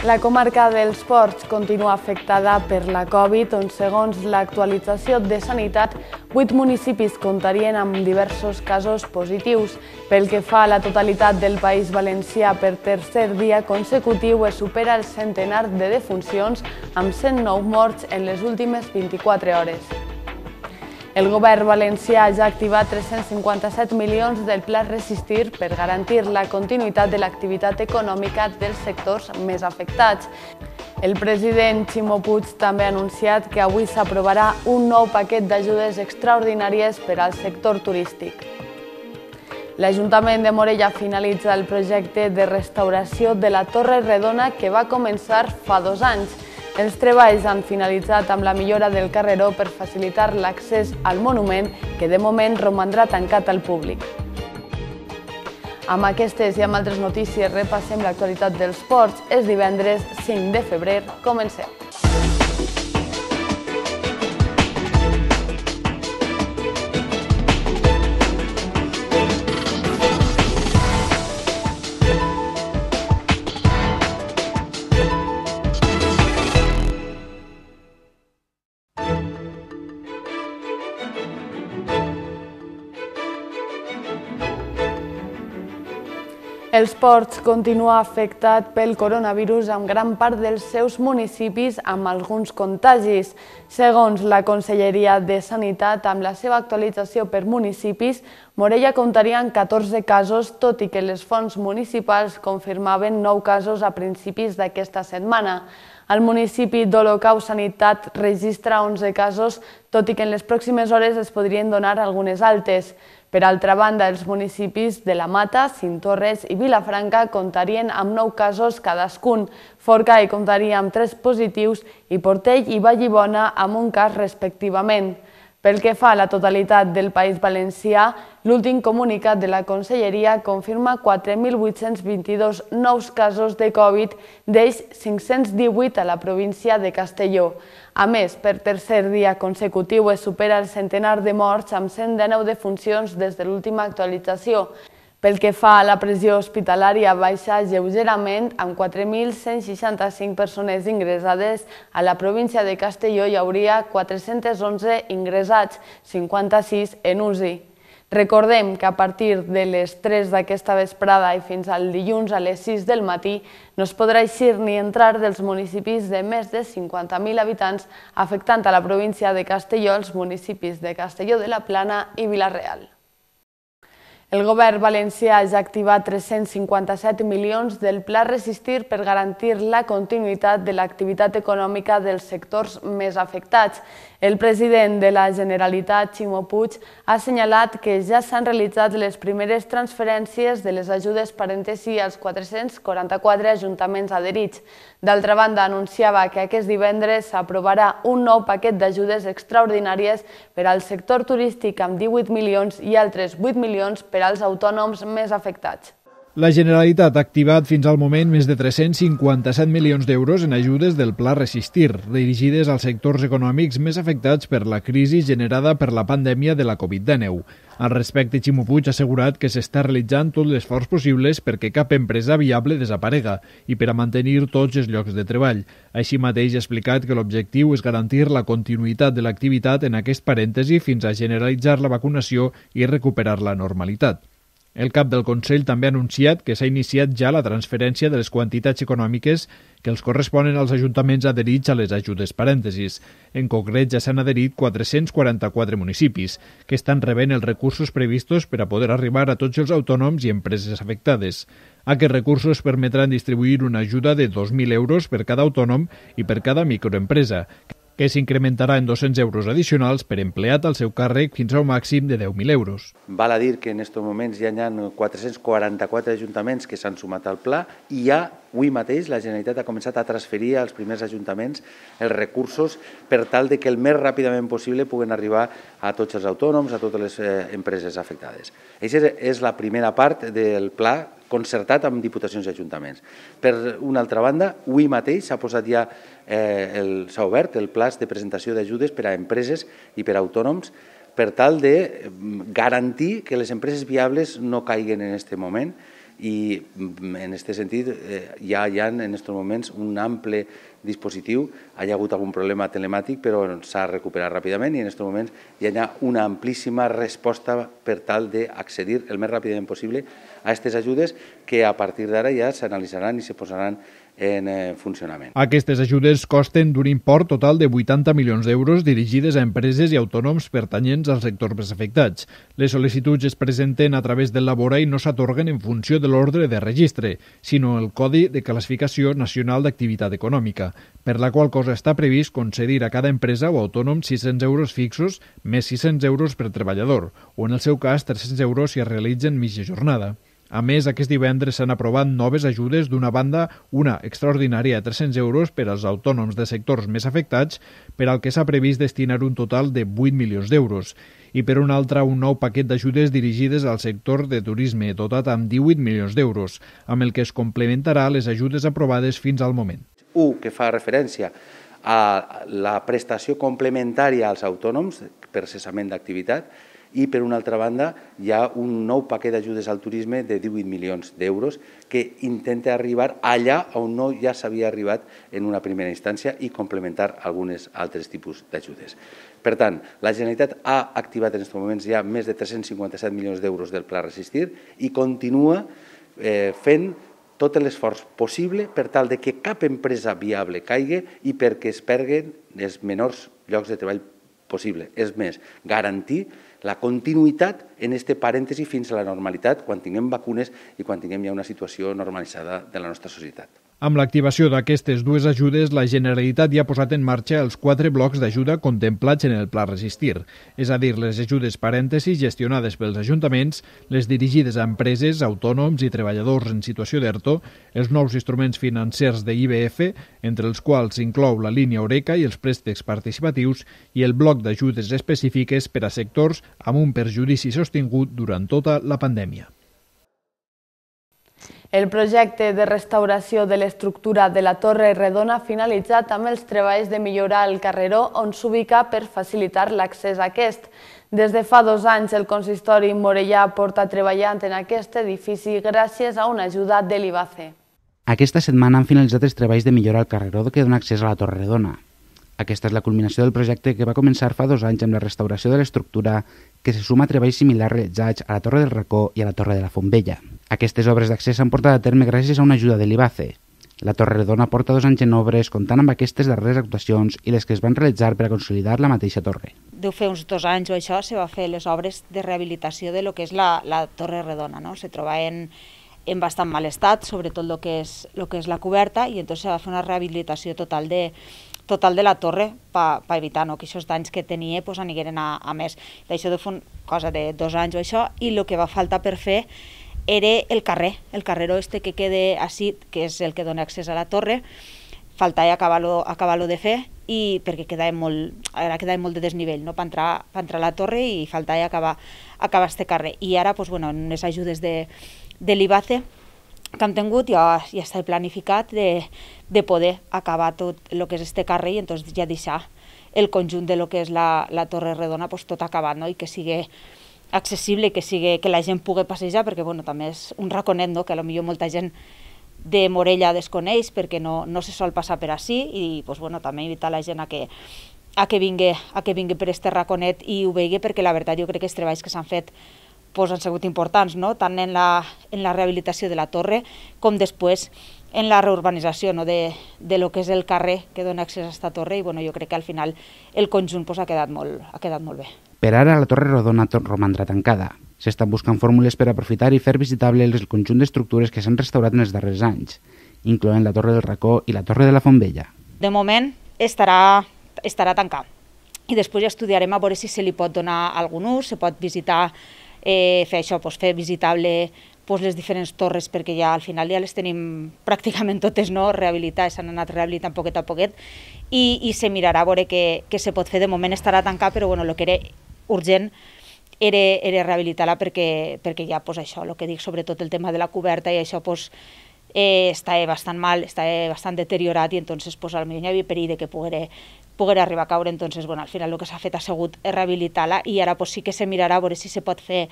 La comarca dels Ports continua afectada per la Covid, on segons l'actualització de Sanitat, 8 municipis comptarien amb diversos casos positius. Pel que fa a la totalitat del País Valencià, per tercer dia consecutiu es supera el centenar de defuncions, amb 109 morts en les últimes 24 hores. El govern valencià ja ha activat 357 milions del Pla Resistir per garantir la continuïtat de l'activitat econòmica dels sectors més afectats. El president Ximo Puig també ha anunciat que avui s'aprovarà un nou paquet d'ajudes extraordinàries per al sector turístic. L'Ajuntament de Morella finalitza el projecte de restauració de la Torre Redona que va començar fa 2 anys. Els treballs han finalitzat amb la millora del carreró per facilitar l'accés al monument, que de moment romandrà tancat al públic. Amb aquestes i amb altres notícies repassem l'actualitat dels ports. És divendres 5 de febrer. Comencem. Els Ports continua afectat pel coronavirus amb gran part dels seus municipis amb alguns contagis. Segons la Conselleria de Sanitat, amb la seva actualització per municipis, Morella comptaria amb 14 casos, tot i que les fonts municipals confirmaven 9 casos a principis d'aquesta setmana. El municipi d'Olocau Sanitat registra 11 casos, tot i que en les pròximes hores es podrien donar algunes altes. Per altra banda, els municipis de La Mata, Cinctorres i Vilafranca comptarien amb 9 casos cadascun. Forcall comptaria amb 3 positius i Portell i Vallibona amb un cas respectivament. Pel que fa a la totalitat del País Valencià, l'últim comunicat de la Conselleria confirma 4.822 nous casos de Covid, d'ells 518 a la província de Castelló. A més, per tercer dia consecutiu es supera el centenar de morts amb 119 defuncions des de l'última actualització. Pel que fa a la pressió hospitalària, baixa lleugerament amb 4.165 persones ingressades. A la província de Castelló hi hauria 411 ingressats, 56 en UCI. Recordem que a partir de les 3 d'aquesta vesprada i fins al dilluns a les 6 del matí no es podrà eixir ni entrar dels municipis de més de 50.000 habitants, afectant a la província de Castelló els municipis de Castelló de la Plana i Vila-real. El govern valencià ja ha activat 357 milions del Pla Resistir per garantir la continuïtat de l'activitat econòmica dels sectors més afectats. El president de la Generalitat, Ximo Puig, ha assenyalat que ja s'han realitzat les primeres transferències de les ajudes parèntesi als 444 ajuntaments adherits. D'altra banda, anunciava que aquest divendres s'aprovarà un nou paquet d'ajudes extraordinàries per al sector turístic amb 18 milions i altres 8 milions per als autònoms més afectats. La Generalitat ha activat fins al moment més de 357 milions d'euros en ajudes del Pla Resistir, dirigides als sectors econòmics més afectats per la crisi generada per la pandèmia de la Covid-19. Al respecte, Ximo Puig ha assegurat que s'està realitzant tot l'esforç possible perquè cap empresa viable desaparega i per a mantenir tots els llocs de treball. Així mateix ha explicat que l'objectiu és garantir la continuïtat de l'activitat en aquest parèntesi fins a generalitzar la vacunació i recuperar la normalitat. El cap del Consell també ha anunciat que s'ha iniciat ja la transferència de les quantitats econòmiques que els corresponen als ajuntaments adherits a les ajudes parèntesis. En concret, ja s'han adherit 444 municipis, que estan rebent els recursos previstos per a poder arribar a tots els autònoms i empreses afectades. Aquests recursos permetran distribuir una ajuda de 2.000 euros per cada autònom i per cada microempresa, que s'incrementarà en 200 euros addicionals per empleat al seu càrrec fins a un màxim de 10.000 euros. Val a dir que en aquests moments ja hi ha 444 ajuntaments que s'han sumat al pla i ja avui mateix la Generalitat ha començat a transferir als primers ajuntaments els recursos per tal de que el més ràpidament possible puguen arribar a tots els autònoms, a totes les empreses afectades. Aquesta és la primera part del pla concertat amb diputacions i ajuntaments. Per una altra banda, avui mateix s'ha posat ja, s'ha obert el pla de presentació d'ajudes per a empreses i per a autònoms per tal de garantir que les empreses viables no caiguen en aquest moment i en aquest sentit ja hi ha en aquests moments un ample dispositiu. Hi ha hagut algun problema telemàtic, però s'ha recuperat ràpidament i en aquests moments hi ha una amplíssima resposta per tal d'accedir el més ràpidament possible a aquestes ajudes que a partir d'ara ja s'analitzaran i se posaran en funcionament. Aquestes ajudes costen d'un import total de 80 milions d'euros dirigides a empreses i autònoms pertanyents als sectors més afectats. Les sol·licituds es presenten a través del Labora i no s'atorguen en funció de l'ordre de registre, sinó el Codi de Classificació Nacional d'Activitat Econòmica, per la qual cosa està previst concedir a cada empresa o autònom 600 euros fixos més 600 euros per treballador, o en el seu cas 300 euros si es realitzen mitja jornada. A més, aquest divendres s'han aprovat noves ajudes, d'una banda, una extraordinària de 300 euros per als autònoms de sectors més afectats, per al que s'ha previst destinar un total de 8 milions d'euros, i per una altra un nou paquet d'ajudes dirigides al sector de turisme, dotat amb 18 milions d'euros, amb el que es complementarà les ajudes aprovades fins al moment. Un que fa referència a la prestació complementària als autònoms per cessament d'activitat, i per una altra banda hi ha un nou paquet d'ajudes al turisme de 18 milions d'euros que intenta arribar allà on no ja s'havia arribat en una primera instància i complementar alguns altres tipus d'ajudes. Per tant, la Generalitat ha activat en aquests moments ja més de 357 milions d'euros del Pla Resistir i continua fent tot l'esforç possible per tal de que cap empresa viable caigui i perquè es perdin els menors llocs de treball possible. És més, garantir la continuïtat en aquest parèntesi fins a la normalitat quan tinguem vacunes i quan tinguem ja una situació normalitzada de la nostra societat. Amb l'activació d'aquestes dues ajudes, la Generalitat ja ha posat en marxa els 4 blocs d'ajuda contemplats en el Pla Resistir, és a dir, les ajudes parèntesis gestionades pels ajuntaments, les dirigides a empreses, autònoms i treballadors en situació d'ERTO, els nous instruments financers de IBF, entre els quals s'inclou la línia Oreca i els préstecs participatius, i el bloc d'ajudes específiques per a sectors amb un perjudici sostingut durant tota la pandèmia. El projecte de restauració de l'estructura de la Torre Redona ha finalitzat amb els treballs de millorar el carreró on s'ubica per facilitar l'accés a aquest. Des de fa 2 anys, el consistori morellà porta treballant en aquest edifici gràcies a una ajuda de l'IBACE. Aquesta setmana han finalitzat els treballs de millorar el carreró que dona accés a la Torre Redona. Aquesta és la culminació del projecte que va començar fa 2 anys amb la restauració de l'estructura que se suma a treballs similars realitzats a la Torre del Racó i a la Torre de la Fontvella. Aquestes obres d'accés s'han portat a terme gràcies a una ajuda de l'IBACE. La Torre Redona porta 2 anys en obres comptant amb aquestes darreres actuacions i les que es van realitzar per a consolidar la mateixa torre. Deu fer uns 2 anys o això se va fer les obres de rehabilitació de lo que és la Torre Redona, no? Se troba en bastant mal estat, sobretot el que és la coberta, i entonces se va fer una rehabilitació total de la torre per evitar que aquests danys que tenia anigueren a més. D'això deu fer una cosa de 2 anys o això, i el que va faltar per fer era el carreró que queda així, que és el que dona accés a la torre. Faltava acabar-lo de fer, i perquè quedava molt de desnivell, no? per entrar a la torre, i faltava acabar aquest carrer. I ara, en les ajudes de l'IBACE que hem tingut, ja està planificat de poder acabar tot el que és este carrer i entonces ja deixar el conjunt de lo que és la Torre Redona tot acabat, no? I que sigui accessible, que la gent pugui passejar, perquè també és un raconet, no? Que potser molta gent de Morella desconeix perquè no se sol passar per ací, i també invitar la gent a que vingui per este raconet i ho vegi, perquè la veritat jo crec que els treballs que s'han fet han sigut importants, no? Tant en la rehabilitació de la torre com després en la reurbanització de lo que és el carrer que dona accés a aquesta torre, i jo crec que al final el conjunt ha quedat molt bé. Per ara la Torre Redona romandrà tancada. S'estan buscant fórmules per aprofitar i fer visitable el conjunt d'estructures que s'han restaurat en els darrers anys, incloent la Torre del Racó i la Torre de la Fontvella. De moment estarà tancat, i després ja estudiarem a veure si se li pot donar algun ús, se pot visitar, fer això, fer visitable les diferents torres, perquè ja al final ja les tenim pràcticament totes rehabilitades, s'han anat rehabilitant poquet a poquet, i se mirarà a veure què se pot fer. De moment estarà tancat, però el que era urgent era rehabilitar-la, perquè ja això, el que dic, sobretot el tema de la coberta i això està bastant mal, està bastant deteriorat, i entonces potser hi havia perill que poguera arribar a caure. Entonces, bueno, al final el que s'ha fet ha sigut rehabilitar-la i ara pues, sí que se mirarà a veure si se pot fer,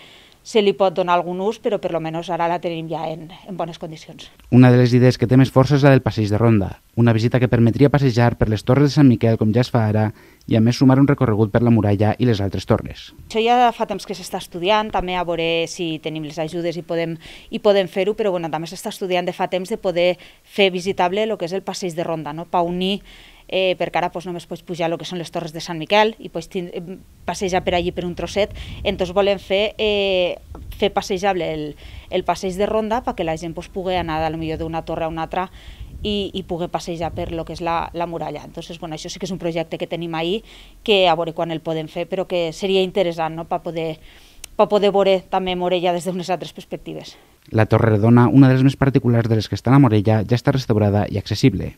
se li pot donar algun ús, però per almenys ara la tenim ja en bones condicions. Una de les idees que té més força és la del passeig de ronda, una visita que permetria passejar per les torres de Sant Miquel com ja es fa ara i a més sumar un recorregut per la muralla i les altres torres. Això ja fa temps que s'està estudiant, també a veure si tenim les ajudes i podem fer-ho, però bueno, també s'està estudiant de fa temps de poder fer visitable el que és el passeig de ronda, no? Per unir, perquè ara només pots pujar el que són les torres de Sant Miquel i pots passejar per allí per un trosset, entonces volem fer passejable el passeig de ronda perquè la gent pugui anar potser d'una torre a una altra i pugui passejar per lo que és la muralla. Entonces, bueno, això sí que és un projecte que tenim ahí, que a veure quan el podem fer, però que seria interessant, no?, per poder veure també Morella des d'unes altres perspectives. La Torre Redona, una de les més particulars de les que estan a Morella, ja està restaurada i accessible.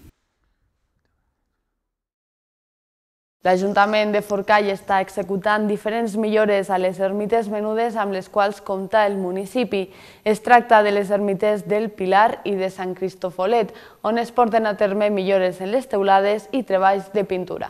L'Ajuntament de Forcall està executant diferents millores a les ermites menudes amb les quals compta el municipi. Es tracta de les ermites del Pilar i de Sant Cristofolet, on es porten a terme millores en les teulades i treballs de pintura.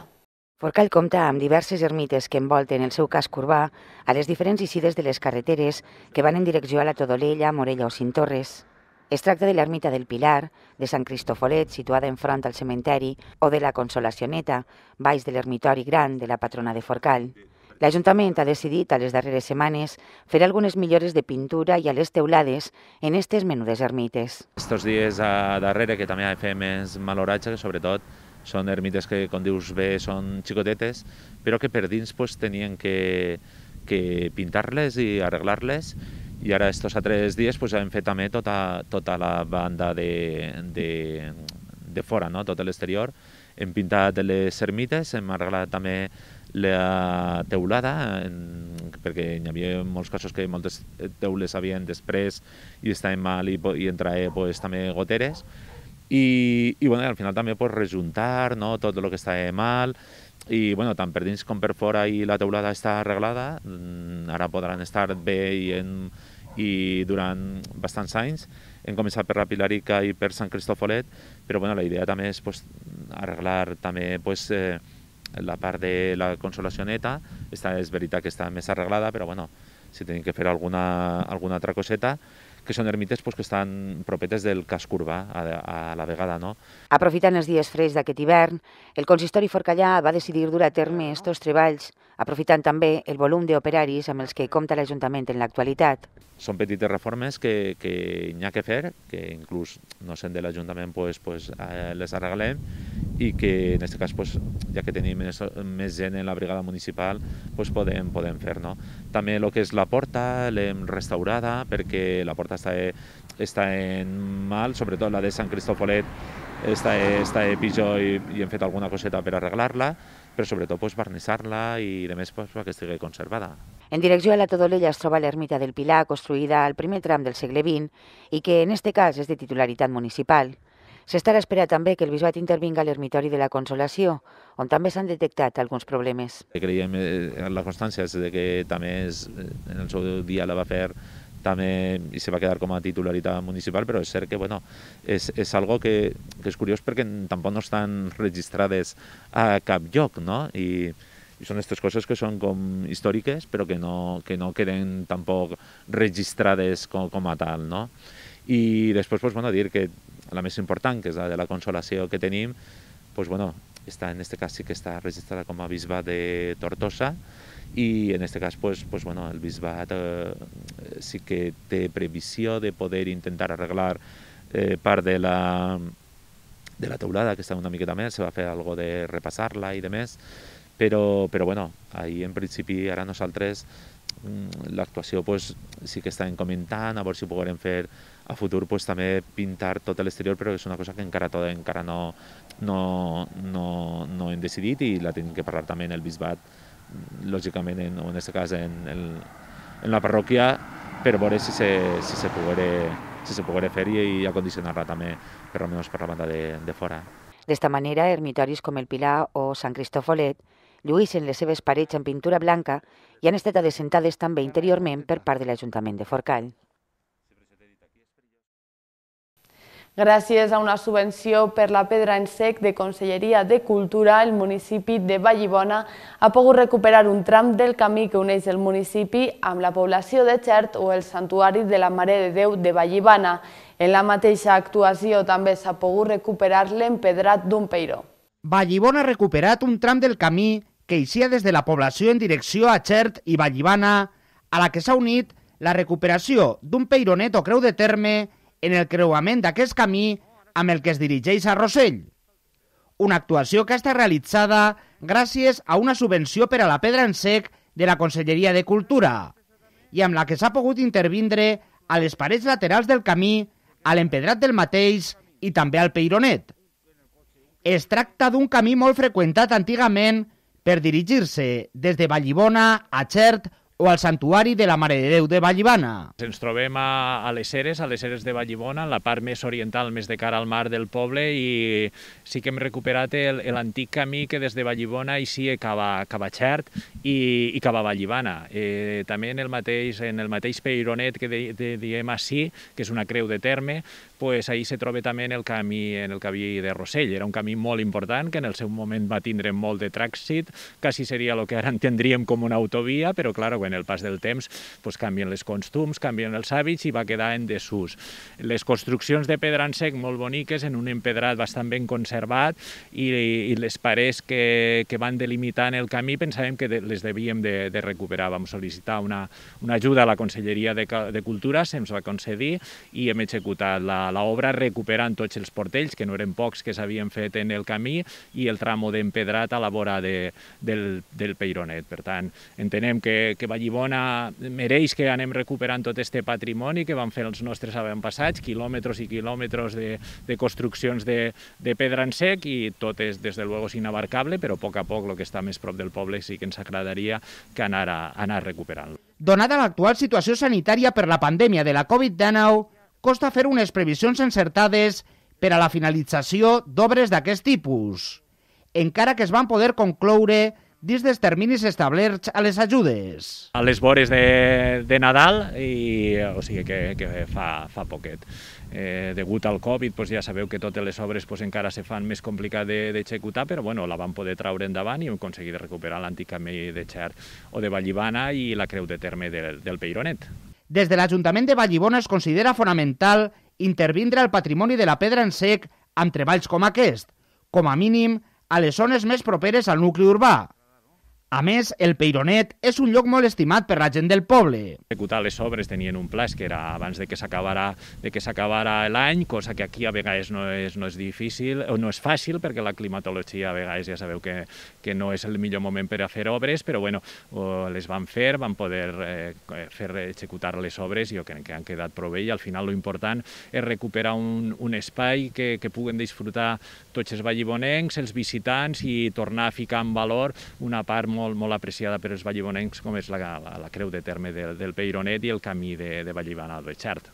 Forcall compta amb diverses ermites que envolten el seu casc urbà a les diferents eixides de les carreteres que van en direcció a la Todolella, Morella o Cinctorres. Es tracta de l'ermita del Pilar, de Sant Cristofolet, situada enfront al cementeri, o de la Consolacioneta, baix de l'ermitori gran de la patrona de Forcall. L'Ajuntament ha decidit a les darreres setmanes fer algunes millores de pintura i a les teulades en aquestes menudes ermites. Estos dies darrere, que també fem més maloratge, que sobretot són ermites que, com dius bé, són xicotetes, però que per dins tenien que pintar-les i arreglar-les. I ara, estos altres dies, hem fet també tota la banda de fora, no? Tot l'exterior. Hem pintat les ermites, hem arreglat també la teulada, perquè hi havia molts casos que moltes teules havien després i estaven mal i entraven també goteres. I al final també rejuntar tot el que estava mal, i tant per dins com per fora, i la teulada està arreglada. Ara podran estar bé i durant bastants anys. Hem començat per la Pilarica i per Sant Cristofolet, però la idea també és arreglar també la part de la Consolacioneta. És veritat que està més arreglada, però si tenim que fer alguna altra coseta, que són ermites que estan propetes del casc urbà a la vegada, no? Aprofitant els dies freds d'aquest hivern, el consistori forcallà va decidir dur a terme aquests treballs, aprofitant també el volum d'operaris amb els que compta l'Ajuntament en l'actualitat. Són petites reformes que n'hi ha que fer, que inclús no sent de l'Ajuntament les arreglem, i que en aquest cas, ja que tenim més gent en la brigada municipal, podem fer. També el que és la porta l'hem restaurada, perquè la porta està en mal, sobretot la de Sant Cristofolet està pitjor i hem fet alguna coseta per arreglar-la, però sobretot barnissar-la i a més perquè estigui conservada. En direcció a la Todolella es troba l'ermita del Pilar, construïda al primer tram del segle XX i que en aquest cas és de titularitat municipal. S'estarà esperant també que el bisbat intervinga a l'ermitori de la Consolació, on també s'han detectat alguns problemes. Creiem en la constància de que també en el seu dia la va fer també i se va quedar com a titularitat municipal, però és cert que és algo que és curiós perquè tampoc no estan registrades a cap lloc, no? I són aquestes coses que són com històriques, però que no queden tampoc registrades com a tal, no? I després dir que la més important, que és la de la Consolació que tenim, està, en aquest cas sí que està registrada com a bisbat de Tortosa, i en aquest cas el bisbat sí que té previsió de poder intentar arreglar part de la teulada, que està una miqueta més, se va fer alguna cosa de repassar-la i de més, però ahir en principi ara nosaltres l'actuació sí que estem comentant, a veure si ho podrem fer a futur també pintar tot l'exterior, però és una cosa que encara no hem decidit i la tenim que parlar també en el bisbat, lògicament, en aquest cas en la parròquia, per veure si se poguera fer i acondicionar-la també, per almenys per la banda de fora. D'esta manera, ermitoris com el Pilar o Sant Cristofolet lluïssen les seves parets en pintura blanca i han estat adecentades també interiorment per part de l'Ajuntament de Forcall. Gràcies a una subvenció per la pedra en sec de Conselleria de Cultura, el municipi de Vallibona ha pogut recuperar un tram del camí que uneix el municipi amb la població de Xert o el Santuari de la Mare de Déu de Vallibana. En la mateixa actuació també s'ha pogut recuperar l'empedrat d'un peiró. Vallibona ha recuperat un tram del camí que eixia des de la població en direcció a Xert i Vallibana, a la que s'ha unit la recuperació d'un peironet o creu de terme en el creuament d'aquest camí amb el que es dirigeix a Rossell. Una actuació que ha estat realitzada gràcies a una subvenció per a la pedra en sec de la Conselleria de Cultura i amb la que s'ha pogut intervindre a les parets laterals del camí, a l'empedrat del mateix i també al peironet. Es tracta d'un camí molt freqüentat antigament per dirigir-se des de Vallibona a Xert o al Santuari de la Mare de Déu de Vallibana. Ens trobem a les Eres de Vallibona, en la part més oriental, més de cara al mar del poble, i sí que hem recuperat l'antic camí que des de Vallibona eixia cap a Xert i cap a Vallibana. També en el mateix peironet que diem així, que és una creu de terme, pues ahí se troba també en el camí de Rossell. Era un camí molt important que en el seu moment va tindre molt de trànsit, quasi seria el que ara entendríem com una autovia, però clar, en el pas del temps pues, canvien els costums, canvien els hàbits i va quedar en desús. Les construccions de pedra en sec molt boniques, en un empedrat bastant ben conservat, i les parets que van delimitant el camí pensàvem que les devíem de recuperar. Vam sol·licitar una ajuda a la Conselleria de Cultura, se'ns va concedir i hem executat l'obra recuperant tots els portells, que no eren pocs que s'havien fet en el camí, i el tramo d'empedrat a la vora del peironet. Per tant, entenem que Vallibona mereix que anem recuperant tot aquest patrimoni que van fer els nostres avantpassats, quilòmetres i quilòmetres de construccions de pedra en sec, i tot és, des de luego, inabarcable, però a poc el que està més prop del poble sí que ens agradaria que anar recuperant-lo. Donada l'actual situació sanitària per la pandèmia de la Covid-19, costa fer unes previsions encertades per a la finalització d'obres d'aquest tipus, encara que es van poder concloure dins dels terminis establerts a les ajudes. A les vores de Nadal, o sigui que fa poquet. Degut al Covid, ja sabeu que totes les obres encara se fan més complicat d'executar, però la vam poder traure endavant i hem aconseguit recuperar l'antic camí de Xert o de Vallibana i la creu de terme del peironet. Des de l'Ajuntament de Vallibona es considera fonamental intervindre al patrimoni de la pedra en sec amb treballs com aquest, com a mínim a les zones més properes al nucli urbà. A més, el peironet és un lloc molt estimat per la gent del poble. Executar les obres tenien un pla que era abans de que s'acabara l'any, cosa que aquí a vegades no és difícil, o no és fàcil, perquè la climatologia a vegades ja sabeu que no és el millor moment per a fer obres, però les van fer, van poder executar les obres i jo crec que han quedat prou bé, i al final l'important és recuperar un espai que puguen disfrutar tots els vallibonencs, els visitants, i tornar a ficar en valor una part molt apreciada per els vallibonencs, com és la creu de terme del peironet i el camí de Vallibana al Xert.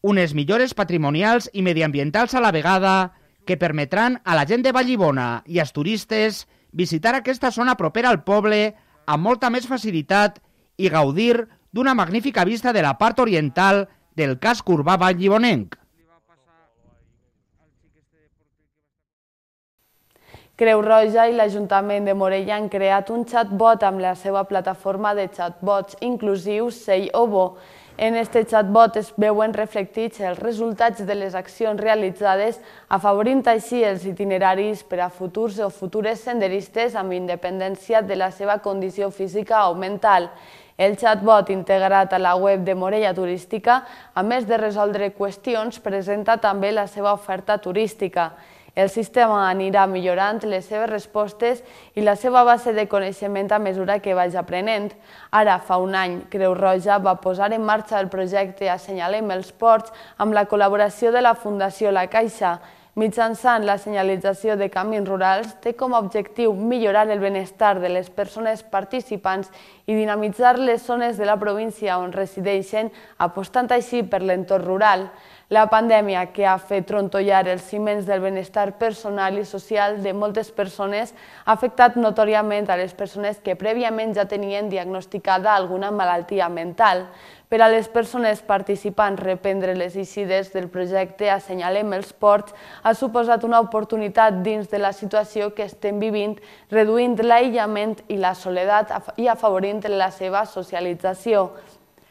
Unes millores patrimonials i mediambientals a la vegada que permetran a la gent de Vallibona i als turistes visitar aquesta zona propera al poble amb molta més facilitat i gaudir d'una magnífica vista de la part oriental del casc urbà vallibonenc. Creu Roja i l'Ajuntament de Morella han creat un chatbot amb la seva plataforma de chatbots inclusius Sei Ovo. En aquest chatbot es veuen reflectits els resultats de les accions realitzades, afavorint així els itineraris per a futurs o futures senderistes amb independència de la seva condició física o mental. El chatbot integrat a la web de Morella Turística, a més de resoldre qüestions, presenta també la seva oferta turística. El sistema anirà millorant les seves respostes i la seva base de coneixement a mesura que vagi aprenent. Ara, fa un any, Creu Roja va posar en marxa el projecte Assenyalem els ports amb la col·laboració de la Fundació La Caixa. Mitjançant la senyalització de camins rurals, té com a objectiu millorar el benestar de les persones participants i dinamitzar les zones de la província on resideixen, apostant així per l'entorn rural. La pandèmia, que ha fet trontollar els ciments del benestar personal i social de moltes persones, ha afectat notòriament a les persones que prèviament ja tenien diagnosticada alguna malaltia mental. Per a les persones participants, reprendre les eixides del projecte Assenyalem els ports ha suposat una oportunitat dins de la situació que estem vivint, reduint l'aïllament i la soledat i afavorint la seva socialització.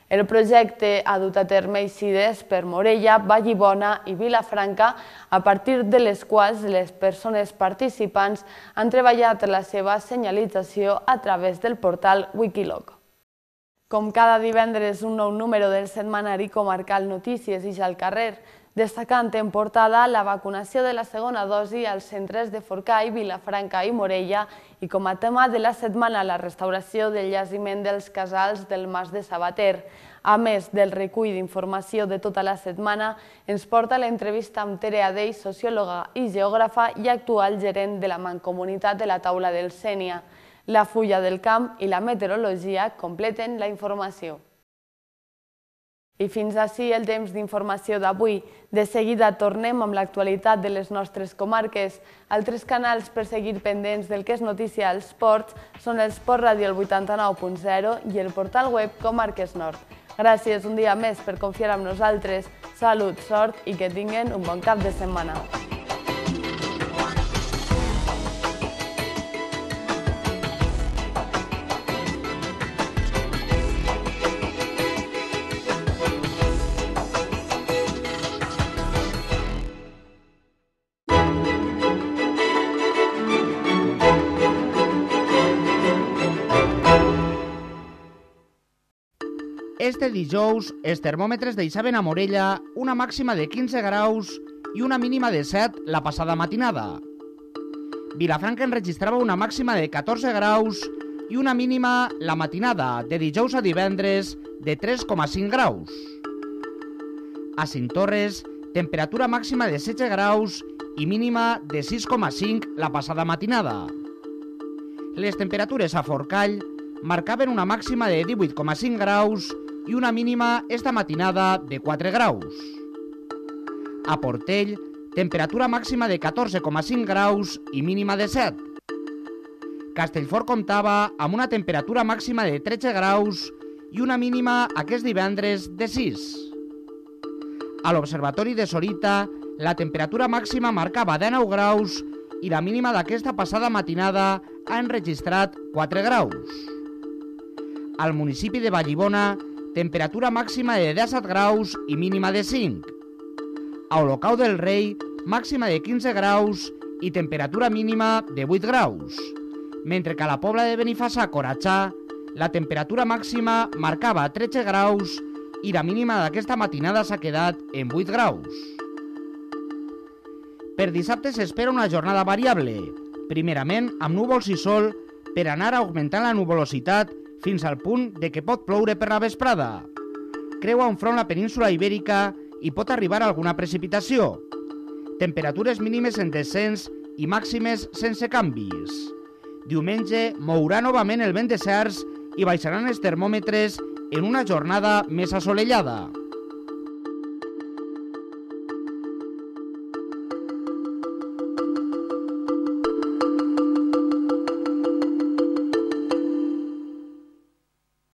El projecte ha dut a terme eixides per Morella, Vallibona i Vilafranca, a partir de les quals les persones participants han treballat la seva senyalització a través del portal Wikiloc. Com cada divendres, un nou número del setmanari comarcal Notícies ix al carrer, destacant en portada la vacunació de la segona dosi als centres de Forcall, Vilafranca i Morella i com a tema de la setmana la restauració del jaciment dels casals del Mas de Sabater. A més del recull d'informació de tota la setmana, ens porta l'entrevista amb Tere Adell, sociòloga i geògrafa i actual gerent de la Mancomunitat de la Taula del Sénia. La fulla del camp i la meteorologia completen la informació. I fins ací el temps d'informació d'avui. De seguida tornem amb l'actualitat de les nostres comarques. Altres canals per seguir pendents del que és notícia als ports són el Sport Ràdio el 89.0 i el portal web Comarques Nord. Gràcies un dia més per confiar en nosaltres. Salut, sort i que tinguen un bon cap de setmana. Este dijous, els termòmetres deixaven a Morella una màxima de 15 graus i una mínima de 7 la passada matinada. Vilafranca enregistrava una màxima de 14 graus i una mínima la matinada de dijous a divendres de 3,5 graus. A Cinctorres, temperatura màxima de 16 graus i mínima de 6,5 la passada matinada. Les temperatures a Forcall marcaven una màxima de 18,5 graus i una mínima esta matinada de 4 graus. A Portell, temperatura màxima de 14,5 graus i mínima de 7. Castellfort comptava amb una temperatura màxima de 13 graus i una mínima aquest divendres de 6. A l'Observatori de Sorita, la temperatura màxima marcava 19 graus i la mínima d'aquesta passada matinada ha enregistrat 4 graus. Al municipi de Vallibona, temperatura màxima de 17 graus i mínima de 5. A Olocau del Rei, màxima de 15 graus i temperatura mínima de 8 graus. Mentre que a la Pobla de Benifassà, Coratxà, la temperatura màxima marcava 13 graus i la mínima d'aquesta matinada s'ha quedat en 8 graus. Per dissabte s'espera una jornada variable, primerament amb núvols i sol per anar augmentant la nuvolositat fins al punt de que pot ploure per la vesprada. Creua un front la península ibèrica i pot arribar alguna precipitació. Temperatures mínimes en descens i màximes sense canvis. Diumenge mourà novament el vent de cerç i baixaran els termòmetres en una jornada més assolellada.